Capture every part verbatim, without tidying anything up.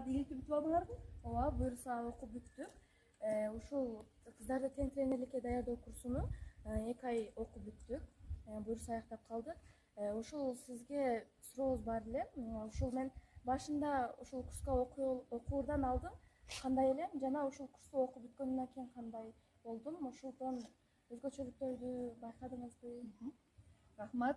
баары ийгиликтүү бүтүп алдыңарбы? Ооба, буюрса окуп бүттүк. Ушул кыздарды тең тренерликке даярдоо курсуну эки ай окуп бүттүк. Буюрса аяктап калдык. Ушул сизге сурообуз бар эле. Ушул мен башында ушул курска окуурдан алдын кандай элем жана ушул курсту окуп бүткөндөн кийин кандай болдум? Ушулдон өзгөчөлүктөрдү байкадыңызбы? Рахмат.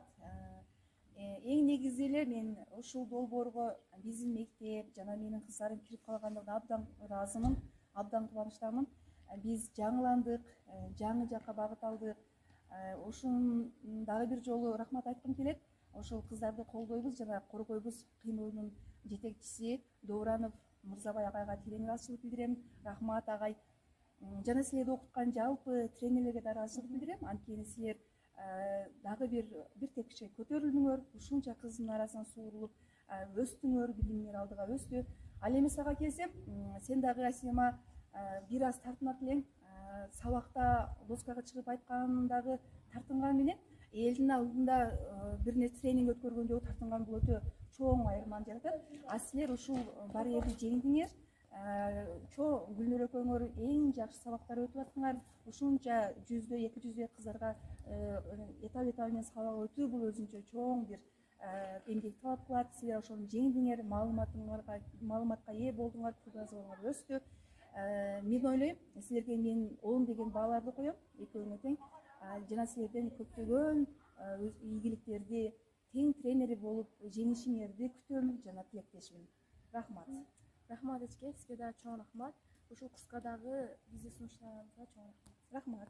Эң негизи эле мен ушул долбоорго биздин мектеп жана менин кыздарым кирип калгандыгына абдан ыраазымын, абдан кубанычтамын. Биз жаңыландык, жаңы жакка багыт алдык. Ушун дагы бир жолу рахмат айткым келет. Ошол кыздарды колдойбуз жана коргойбуз кыймылынын жетекчиси Добранов Мырзабай агайга терең ыраазычылык билдирем. Рахмат агай. Жана силерди окуткан жалпы тренерлерге да ыраазычылык билдирем. Анткени силер дагы бир бир тепкичке көтөрүлдүңөр, ушунча кыздын арасынан суурулуп өстүңөр, билимиңер алдыга өстү. Ал эми сага келсем, сен дагы Асема бир аз тартынат элең. Сабакта доскага чыгып айткандагы тартынган менен элдин алдында бир нерсе тренинг өткөргөн жолу тартынган бул өтө чоң айырманы жаратат. А силер ушул барьерди жеңдиңер. Чоң Гүлнөр экөөңөр эң жакшы сабактар өтүп аттыңар. Ушунча жүздөй, эки жүздөй кыздарга этап этабы менен сабак өтүү бул өзүнчө чоң бир эмгек талап кылат. Силер ошону жеңдиңер, маалыматыңарга маалыматка ээ болдуңар, кругозоруңар өстү. Мен ойлойм, силерге мен он деген бааларды коем, экөөңө тең. Жана силерден көптөгөн ийгиликтерди, тең тренери болуп жеңишиңерди күтөм жана тилектешмин. Рахмат. Рахмат эчке, сизге да чоң рахмат. Ушул курска дагы бизди сунуштаганыңызга чоң рахмат. Рахмат.